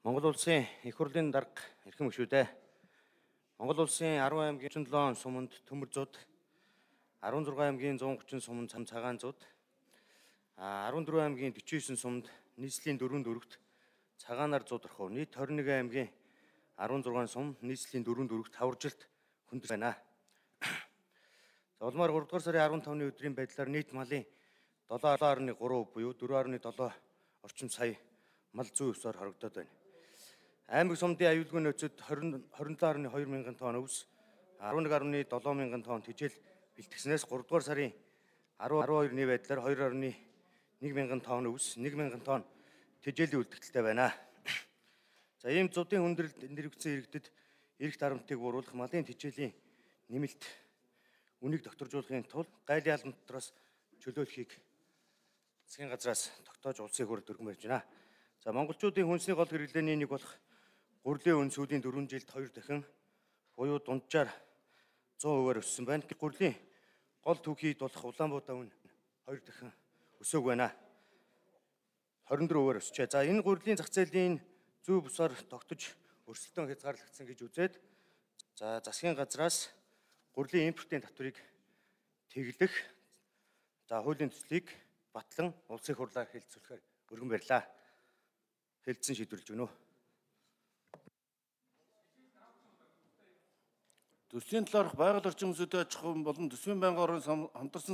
Монгол улсын их хурлын дарга эрхэм гишүүдээ Монгол улсын 10 аймгийн 37 суманд төмөр зууд, 16 аймгийн 130 суманд цагаан зууд, 14 аймгийн 49 суманд нийслэлийн 4-4-т цагаанаар зууд орхив. Нийт 21 аймгийн 16 сум нийслэлийн 4-4-т таваржилт хүндэж байна. За улмаар 3 дугаар сарын 15-ны өдрийн байдлаар нийт малын 7.3% буюу 4.7 орчим сая мал зүй өсөөр хорогдоод байна. Аймаг сумдын аюулгүй нөөцөд 27.2 мянган тонн өвс, 11.7 мянган тонн тэжээл бэлтгэснээс 3 дугаар сарын 12-ны байдлаар 2.1 мянган тонн өвс, 1 мянган тонн тэжээлийн үлдэгдэлтэй байна. За ийм зуудын хүндрэлд нэрвэгдсэн иргэдэд эрх дарамтыг бууруулах, малын тэжээлийн нэмэлт үнийг докторжуулахын тулд гайлын албан дотроос чөлөөлөхийг засгийн газраас тогтоож улсын хурлд өргөн барьж байна. За монголчуудын хүнсний гол хэрэглээний нэг болох гурлийн үн сүүлийн 4 жилд 2 дахин буюу дунджаар 100%-аар өссөн байна. Гурлийн гол түүхийд болох Улаанбаатар үн 2 дахин өсөөг байна. 24%-аар өсчээ. За энэ гурлийн зах зээлийн зүй бусаар тогтож өрсөлдөөн хязгаарлагдсан гэж үзээд за засгийн газраас гурлийн импортын татварыг тэглэх хуулийн төслийг батлан улсын хурлаар хэлэлцүүлэхээр өргөн барьлаа. Хэлэлцэн шийдвэрлэж өгнө. Төсвийн талаарх байгаль орчин зүйтэй аж ахуйн болон төсвийн байнгын орон хамтарсан